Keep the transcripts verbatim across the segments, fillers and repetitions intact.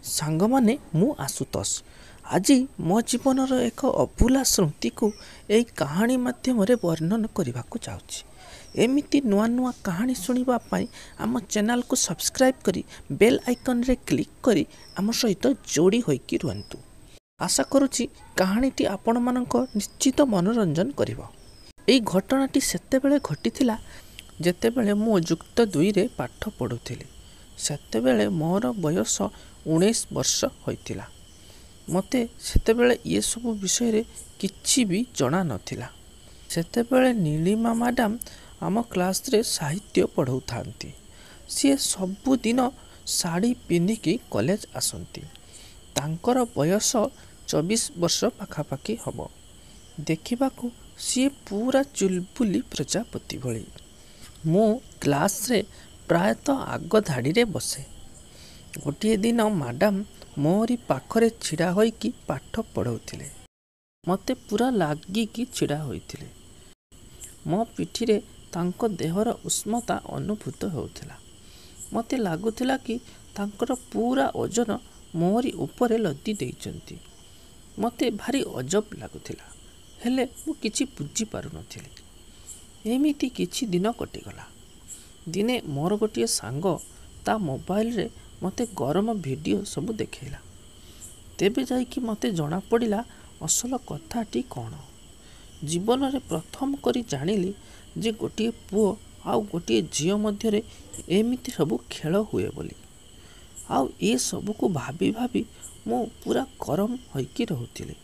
ସାଙ୍ଗମାନେ, ମୁଁ ଆଶୁତୋଷ। ଆଜି ମୋ ଜୀବନର ଏକ ଅଭୁଲା ସ୍ମୃତିକୁ ଏଇ କାହାଣୀ ମାଧ୍ୟମରେ ବର୍ଣ୍ଣନ କରିବାକୁ ଯାଉଛି। ଏମିତି ନୂଆ ନୂଆ କାହାଣୀ ଶୁଣିବା ପାଇଁ ଆମ ଚ୍ୟାନେଲକୁ ସବସ୍କ୍ରାଇବ୍ କରି ବେଲ୍ ଆଇକନ୍ରେ କ୍ଲିକ୍ କରି ଆମ ସହିତ ଯୋଡ଼ି ହୋଇକି ରୁହନ୍ତୁ। ଆଶା କରୁଛି କାହାଣୀଟି ଆପଣମାନଙ୍କ ନିଶ୍ଚିତ ମନୋରଞ୍ଜନ କରିବ। ଏଇ ଘଟଣାଟି ସେତେବେଳେ ଘଟିଥିଲା, ଯେତେବେଳେ ମୁଁ ଯୁକ୍ତ ଦୁଇରେ ପାଠ ପଢ଼ୁଥିଲି। ସେତେବେଳେ ମୋର ବୟସ ଉଣେଇଶ ବର୍ଷ ହୋଇଥିଲା। ମୋତେ ସେତେବେଳେ ଏସବୁ ବିଷୟରେ କିଛି ବି ଜଣା ନଥିଲା। ସେତେବେଳେ ନୀଳିମା ମ୍ୟାଡ଼ାମ୍ ଆମ କ୍ଲାସ୍ରେ ସାହିତ୍ୟ ପଢ଼ଉଥାନ୍ତି। ସିଏ ସବୁଦିନ ଶାଢ଼ୀ ପିନ୍ଧିକି କଲେଜ ଆସନ୍ତି। ତାଙ୍କର ବୟସ ଚବିଶ ବର୍ଷ ପାଖାପାଖି ହେବ। ଦେଖିବାକୁ ସିଏ ପୁରା ଚୁଲବୁଲି ପ୍ରଜାପତି ଭଳି। ମୁଁ କ୍ଲାସ୍ରେ ପ୍ରାୟତଃ ଆଗ ଧାଡ଼ିରେ ବସେ। ଗୋଟିଏ ଦିନ ମ୍ୟାଡ଼ାମ୍ ମୋରି ପାଖରେ ଛିଡ଼ା ହୋଇକି ପାଠ ପଢ଼ଉଥିଲେ। ମୋତେ ପୁରା ଲାଗିକି ଛିଡ଼ା ହୋଇଥିଲେ। ମୋ ପିଠିରେ ତାଙ୍କ ଦେହର ଉଷ୍ମତା ଅନୁଭୂତ ହେଉଥିଲା। ମୋତେ ଲାଗୁଥିଲା କି ତାଙ୍କର ପୁରା ଓଜନ ମୋରି ଉପରେ ଲଦି ଦେଇଛନ୍ତି। ମୋତେ ଭାରି ଅଜବ ଲାଗୁଥିଲା, ହେଲେ ମୁଁ କିଛି ବୁଝିପାରୁନଥିଲି। ଏମିତି କିଛି ଦିନ କଟିଗଲା। ଦିନେ ମୋର ଗୋଟିଏ ସାଙ୍ଗ ତା ମୋବାଇଲରେ ମୋତେ ଗରମ ଭିଡ଼ିଓ ସବୁ ଦେଖେଇଲା। ତେବେ ଯାଇକି ମୋତେ ଜଣାପଡ଼ିଲା ଅସଲ କଥାଟି କ'ଣ। ଜୀବନରେ ପ୍ରଥମ କରି ଜାଣିଲି ଯେ ଗୋଟିଏ ପୁଅ ଆଉ ଗୋଟିଏ ଝିଅ ମଧ୍ୟରେ ଏମିତି ସବୁ ଖେଳ ହୁଏ ବୋଲି। ଆଉ ଏସବୁକୁ ଭାବି ଭାବି ମୁଁ ପୁରା ଗରମ ହୋଇକି ରହୁଥିଲି।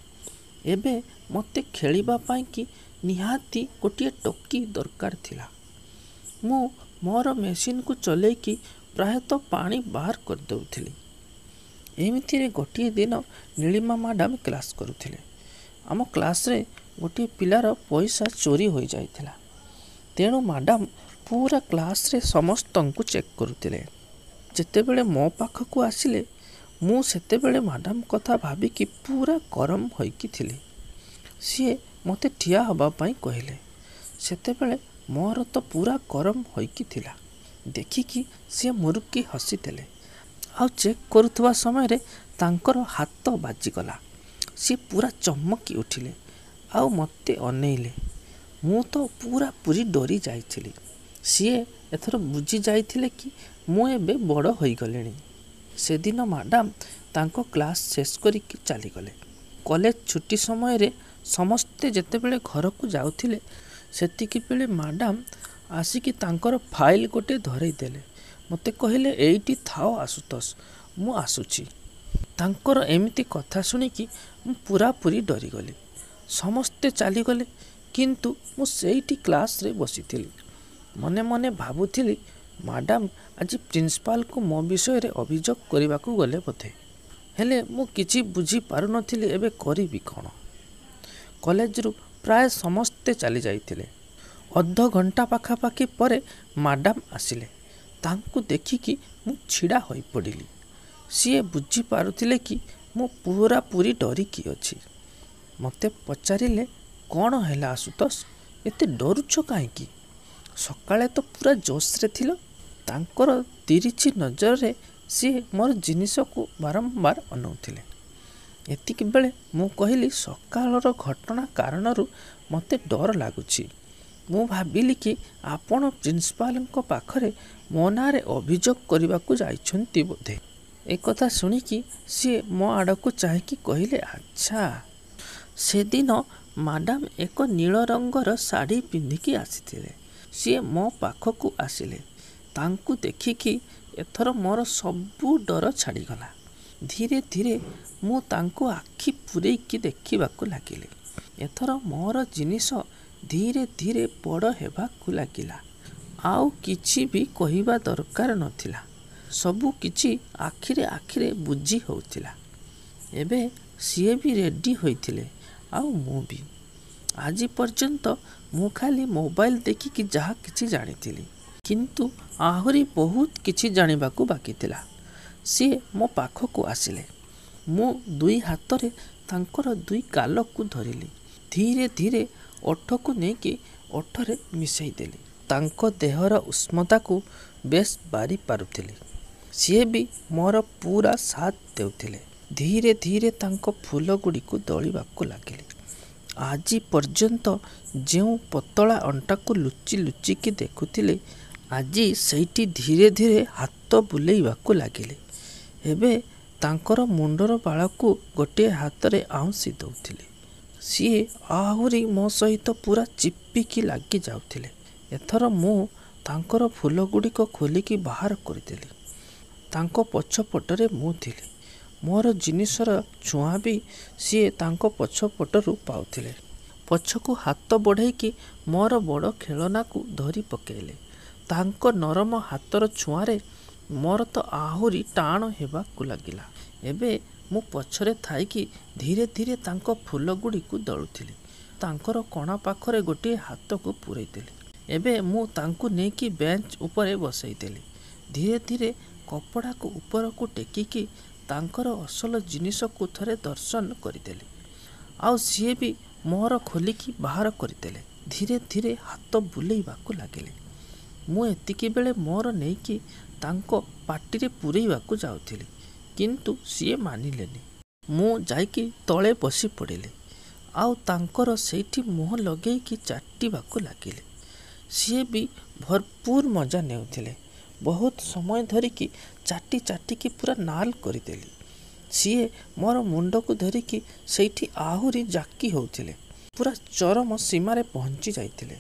ଏବେ ମୋତେ ଖେଳିବା ପାଇଁକି ନିହାତି ଗୋଟିଏ ଟୋକି ଦରକାର ଥିଲା। ମୁଁ ମୋର ମେସିନ୍କୁ ଚଲେଇକି ପ୍ରାୟତଃ ପାଣି ବାହାର କରିଦେଉଥିଲି। ଏମିତିରେ ଗୋଟିଏ ଦିନ ନୀଳିମା ମ୍ୟାଡ଼ାମ୍ କ୍ଲାସ୍ କରୁଥିଲେ। ଆମ କ୍ଲାସ୍ରେ ଗୋଟିଏ ପିଲାର ପଇସା ଚୋରି ହୋଇଯାଇଥିଲା। ତେଣୁ ମ୍ୟାଡ଼ାମ୍ ପୁରା କ୍ଲାସ୍ରେ ସମସ୍ତଙ୍କୁ ଚେକ୍ କରୁଥିଲେ। ଯେତେବେଳେ ମୋ ପାଖକୁ ଆସିଲେ, ମୁଁ ସେତେବେଳେ ମ୍ୟାଡ଼ାମ୍ କଥା ଭାବିକି ପୁରା ଗରମ ହୋଇକି ଥିଲି। ସିଏ ମୋତେ ଠିଆ ହେବା ପାଇଁ କହିଲେ। ସେତେବେଳେ ମୋର ତ ପୁରା ଗରମ ହୋଇକି ଥିଲା। ଦେଖିକି ସିଏ ମୁରୁକି ହସିଦେଲେ। ଆଉ ଚେକ୍ କରୁଥିବା ସମୟରେ ତାଙ୍କର ହାତ ବାଜିଗଲା। ସିଏ ପୁରା ଚମକି ଉଠିଲେ ଆଉ ମୋତେ ଅନେଇଲେ। ମୁଁ ତ ପୁରାପୁରି ଡରି ଯାଇଥିଲି। ସିଏ ଏଥର ବୁଝି ଯାଇଥିଲେ କି ମୁଁ ଏବେ ବଡ଼ ହୋଇଗଲିଣି। ସେଦିନ ମ୍ୟାଡ଼ାମ୍ ତାଙ୍କ କ୍ଲାସ୍ ଶେଷ କରିକି ଚାଲିଗଲେ। କଲେଜ ଛୁଟି ସମୟରେ ସମସ୍ତେ ଯେତେବେଳେ ଘରକୁ ଯାଉଥିଲେ, ସେତିକି ବେଳେ ମ୍ୟାଡ଼ାମ୍ ଆସିକି ତାଙ୍କର ଫାଇଲ୍ ଗୋଟେ ଧରେଇ ଦେଲେ। ମୋତେ କହିଲେ, ଏଇଠି ଥାଅ ଆଶୁତୋଷ, ମୁଁ ଆସୁଛି। ତାଙ୍କର ଏମିତି କଥା ଶୁଣିକି ମୁଁ ପୁରାପୁରି ଡରିଗଲି। ସମସ୍ତେ ଚାଲିଗଲେ, କିନ୍ତୁ ମୁଁ ସେଇଠି କ୍ଲାସ୍ରେ ବସିଥିଲି। ମନେ ମନେ ଭାବୁଥିଲି, ମ୍ୟାଡ଼ାମ୍ ଆଜି ପ୍ରିନ୍ସିପାଲକୁ ମୋ ବିଷୟରେ ଅଭିଯୋଗ କରିବାକୁ ଗଲେ ବୋଧେ। ହେଲେ ମୁଁ କିଛି ବୁଝିପାରୁନଥିଲି ଏବେ କରିବି କ'ଣ। କଲେଜରୁ ପ୍ରାୟ ସମସ୍ତେ ଚାଲି ଯାଇଥିଲେ। ଅଧଘଣ୍ଟା ପାଖାପାଖି ପରେ ମ୍ୟାଡ଼ାମ୍ ଆସିଲେ। ତାଙ୍କୁ ଦେଖିକି ମୁଁ ଛିଡ଼ା ହୋଇପଡ଼ିଲି। ସିଏ ବୁଝିପାରୁଥିଲେ କି ମୁଁ ପୁରାପୁରି ଡରିକି ଅଛି। ମୋତେ ପଚାରିଲେ, କ'ଣ ହେଲା ଆଶୁତୋଷ, ଏତେ ଡରୁଛ କାହିଁକି? ସକାଳେ ତ ପୁରା ଜୋସ୍ରେ ଥିଲ। ତାଙ୍କର ତିରିଛି ନଜରରେ ସିଏ ମୋର ଜିନିଷକୁ ବାରମ୍ବାର ଅନଉଥିଲେ। ଏତିକି ବେଳେ ମୁଁ କହିଲି, ସକାଳର ଘଟଣା କାରଣରୁ ମୋତେ ଡର ଲାଗୁଛି। ମୁଁ ଭାବିଲି କି ଆପଣ ପ୍ରିନ୍ସିପାଲଙ୍କ ପାଖରେ ମୋ ନାଁରେ ଅଭିଯୋଗ କରିବାକୁ ଯାଇଛନ୍ତି ବୋଧେ। ଏକଥା ଶୁଣିକି ସିଏ ମୋ ଆଡ଼କୁ ଚାହିଁକି କହିଲେ, ଆଚ୍ଛା। ସେଦିନ ମ୍ୟାଡ଼ାମ୍ ଏକ ନୀଳ ରଙ୍ଗର ଶାଢ଼ୀ ପିନ୍ଧିକି ଆସିଥିଲେ। ସିଏ ମୋ ପାଖକୁ ଆସିଲେ। ତାଙ୍କୁ ଦେଖିକି ଏଥର ମୋର ସବୁ ଡର ଛାଡ଼ିଗଲା। ଧୀରେ ଧୀରେ ମୁଁ ତାଙ୍କୁ ଆଖି ପୂରେଇକି ଦେଖିବାକୁ ଲାଗିଲି। ଏଥର ମୋର ଜିନିଷ ଧୀରେ ଧୀରେ ବଡ଼ ହେବାକୁ ଲାଗିଲା। ଆଉ କିଛି ବି କହିବା ଦରକାର ନଥିଲା। ସବୁ କିଛି ଆଖିରେ ଆଖିରେ ବୁଝି ହେଉଥିଲା। ଏବେ ସିଏ ବି ରେଡ଼ି ହୋଇଥିଲେ ଆଉ ମୁଁ ବି। ଆଜି ପର୍ଯ୍ୟନ୍ତ ମୁଁ ଖାଲି ମୋବାଇଲ ଦେଖିକି ଯାହା କିଛି ଜାଣିଥିଲି, କିନ୍ତୁ ଆହୁରି ବହୁତ କିଛି ଜାଣିବାକୁ ବାକି ଥିଲା। ସିଏ ମୋ ପାଖକୁ ଆସିଲେ। ମୁଁ ଦୁଇ ହାତରେ ତାଙ୍କର ଦୁଇ ଗାଲକୁ ଧରିଲି। ଧୀରେ ଧୀରେ ଓଠକୁ ନେଇକି ଓଠରେ ମିଶାଇ ଦେଲି। ତାଙ୍କ ଦେହର ଉଷ୍ମତାକୁ ବେଶ୍ ବାରି ପାରୁଥିଲି। ସିଏ ବି ମୋର ପୁରା ସାଥ ଦେଉଥିଲେ। ଧୀରେ ଧୀରେ ତାଙ୍କ ଫୁଲଗୁଡ଼ିକୁ ଦଳିବାକୁ ଲାଗିଲି। ଆଜି ପର୍ଯ୍ୟନ୍ତ ଯେଉଁ ପତଳା ଅଣ୍ଟାକୁ ଲୁଚି ଲୁଚିକି ଦେଖୁଥିଲି, ଆଜି ସେଇଠି ଧୀରେ ଧୀରେ ହାତ ବୁଲେଇବାକୁ ଲାଗିଲି। ଏବେ ତାଙ୍କର ମୁଣ୍ଡର ବାଳକୁ ଗୋଟିଏ ହାତରେ ଆଉଁସି ଦେଉଥିଲି। ସିଏ ଆହୁରି ମୋ ସହିତ ପୁରା ଚିପିକି ଲାଗି ଯାଉଥିଲେ। ଏଥର ମୁଁ ତାଙ୍କର ଫୁଲଗୁଡ଼ିକ ଖୋଲିକି ବାହାର କରିଦେଲି। ତାଙ୍କ ପଛପଟରେ ମୁଁ ଥିଲି। ମୋର ଜିନିଷର ଛୁଆଁ ବି ସିଏ ତାଙ୍କ ପଛପଟରୁ ପାଉଥିଲେ। ପଛକୁ ହାତ ବଢ଼େଇକି ମୋର ବଡ଼ ଖେଳନାକୁ ଧରି ପକେଇଲେ। ତାଙ୍କ ନରମ ହାତର ଛୁଆଁରେ ମୋର ତ ଆହୁରି ଟାଣ ହେବାକୁ ଲାଗିଲା। ଏବେ ମୁଁ ପଛରେ ଥାଇକି ଧୀରେ ଧୀରେ ତାଙ୍କ ଫୁଲଗୁଡ଼ିକୁ ଦଳୁଥିଲି। ତାଙ୍କର କଣା ପାଖରେ ଗୋଟିଏ ହାତକୁ ପୂରେଇଦେଲି। ଏବେ ମୁଁ ତାଙ୍କୁ ନେଇକି ବେଞ୍ଚ ଉପରେ ବସେଇଦେଲି। ଧୀରେ ଧୀରେ କପଡ଼ାକୁ ଉପରକୁ ଟେକିକି ତାଙ୍କର ଅସଲ ଜିନିଷକୁ ଥରେ ଦର୍ଶନ କରିଦେଲି। ଆଉ ସିଏ ବି ମୋର ଖୋଲିକି ବାହାର କରିଦେଲେ। ଧୀରେ ଧୀରେ ହାତ ବୁଲେଇବାକୁ ଲାଗିଲେ। ମୁଁ ଏତିକି ବେଳେ ମୋର ନେଇକି ତାଙ୍କ ପାଟିରେ ପୂରେଇବାକୁ ଯାଉଥିଲି, କିନ୍ତୁ ସିଏ ମାନିଲେନି। ମୁଁ ଯାଇକି ତଳେ ବସି ପଡ଼ିଲି ଆଉ ତାଙ୍କର ସେଇଠି ମୁହଁ ଲଗେଇକି ଚାଟିବାକୁ ଲାଗିଲି। ସିଏ ବି ଭରପୁର ମଜା ନେଉଥିଲେ। ବହୁତ ସମୟ ଧରିକି ଚାଟି ଚାଟିକି ପୁରା ନାଲ କରିଦେଲି। ସିଏ ମୋର ମୁଣ୍ଡକୁ ଧରିକି ସେଇଠି ଆହୁରି ଜାକି ହେଉଥିଲେ। ପୁରା ଚରମ ସୀମାରେ ପହଞ୍ଚି ଯାଇଥିଲେ।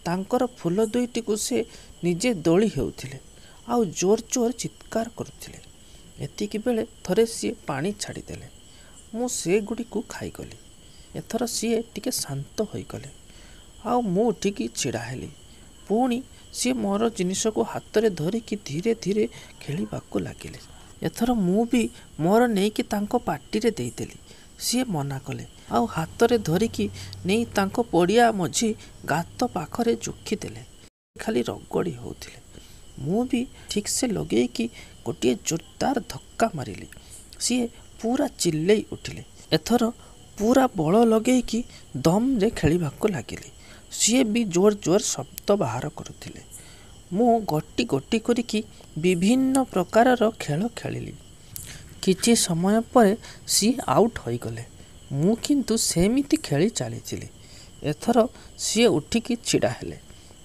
ତାଙ୍କର ଫୁଲ ଦୁଇଟିକୁ ସେ ନିଜେ ଦଳି ହେଉଥିଲେ ଆଉ ଜୋର ଜୋର ଚିତ୍କାର କରୁଥିଲେ। ଏତିକି ବେଳେ ଥରେ ସିଏ ପାଣି ଛାଡ଼ିଦେଲେ। ମୁଁ ସେଗୁଡ଼ିକୁ ଖାଇଗଲି। ଏଥର ସିଏ ଟିକେ ଶାନ୍ତ ହୋଇଗଲେ ଆଉ ମୁଁ ଉଠିକି ଛିଡ଼ା ହେଲି। ପୁଣି ସିଏ ମୋର ଜିନିଷକୁ ହାତରେ ଧରିକି ଧୀରେ ଧୀରେ ଖେଳିବାକୁ ଲାଗିଲେ। ଏଥର ମୁଁ ବି ମୋର ନେଇକି ତାଙ୍କ ପାଟିରେ ଦେଇଦେଲି। ସିଏ ମନା କଲେ ଆଉ ହାତରେ ଧରିକି ନେଇ ତାଙ୍କ ପଡ଼ିଆ ମଝି ଗାତ ପାଖରେ ଜୋଖିଦେଲେ। ଖାଲି ରଗଡ଼ି ହେଉଥିଲେ। ମୁଁ ବି ଠିକ୍ସେ ଲଗେଇକି ଗୋଟିଏ ଜୋରଦାର ଧକ୍କା ମାରିଲି। ସିଏ ପୁରା ଚିଲ୍ଲେଇ ଉଠିଲେ। ଏଥର ପୁରା ବଳ ଲଗେଇକି ଦମ୍ରେ ଖେଳିବାକୁ ଲାଗିଲି। ସିଏ ବି ଜୋର ଜୋର ଶବ୍ଦ ବାହାର କରୁଥିଲେ। ମୁଁ ଗୋଟି ଗୋଟି କରିକି ବିଭିନ୍ନ ପ୍ରକାରର ଖେଳ ଖେଳିଲି। କିଛି ସମୟ ପରେ ସିଏ ଆଉଟ୍ ହୋଇଗଲେ। ମୁଁ କିନ୍ତୁ ସେମିତି ଖେଳି ଚାଲିଥିଲି। ଏଥର ସିଏ ଉଠିକି ଛିଡ଼ା ହେଲେ।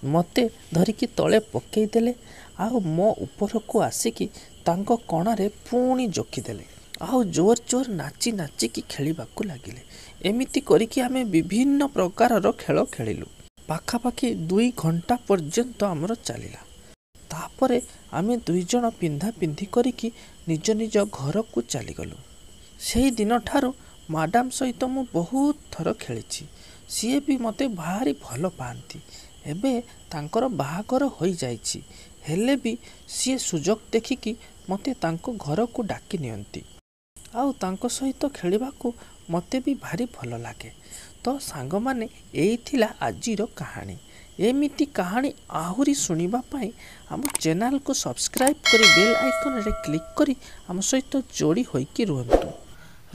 ମୋତେ ଧରିକି ତଳେ ପକେଇଦେଲେ ଆଉ ମୋ ଉପରକୁ ଆସିକି ତାଙ୍କ କଣାରେ ପୁଣି ଜୋଖିଦେଲେ ଆଉ ଜୋର ଜୋର ନାଚି ନାଚିକି ଖେଳିବାକୁ ଲାଗିଲେ। ଏମିତି କରିକି ଆମେ ବିଭିନ୍ନ ପ୍ରକାରର ଖେଳ ଖେଳିଲୁ। ପାଖାପାଖି ଦୁଇ ଘଣ୍ଟା ପର୍ଯ୍ୟନ୍ତ ଆମର ଚାଲିଲା। ତାପରେ ଆମେ ଦୁଇ ଜଣ ପିନ୍ଧା ପିନ୍ଧି କରିକି ନିଜ ନିଜ ଘରକୁ ଚାଲିଗଲୁ। ସେଇ ଦିନଠାରୁ ମ୍ୟାଡ଼ାମ୍ ସହିତ ମୁଁ ବହୁତ ଥର ଖେଳିଛି। ସିଏ ବି ମୋତେ ଭାରି ଭଲ ପାଆନ୍ତି। ଏବେ ତାଙ୍କର ବାହାଘର ହୋଇଯାଇଛି, ହେଲେ ବି ସିଏ ସୁଯୋଗ ଦେଖିକି ମୋତେ ତାଙ୍କ ଘରକୁ ଡାକି ନିଅନ୍ତି ଆଉ ତାଙ୍କ ସହିତ ଖେଳିବାକୁ ମୋତେ ବି ଭାରି ଭଲ ଲାଗେ। ତ ସାଙ୍ଗମାନେ, ଏଇ ଥିଲା ଆଜିର କାହାଣୀ। ଏମିତି କାହାଣୀ ଆହୁରି ଶୁଣିବା ପାଇଁ ଆମ ଚ୍ୟାନେଲକୁ ସବସ୍କ୍ରାଇବ୍ କରି ବେଲ୍ ଆଇକନ୍ରେ କ୍ଲିକ୍ କରି ଆମ ସହିତ ଯୋଡ଼ି ହୋଇକି ରୁହନ୍ତୁ।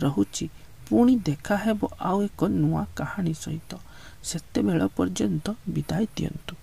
ରହୁଛି, ପୁଣି ଦେଖା ହେବ ଆଉ ଏକ ନୂଆ କାହାଣୀ ସହିତ। ସେତେବେଳ ପର୍ଯ୍ୟନ୍ତ ବିଦାୟ ଦିଅନ୍ତୁ।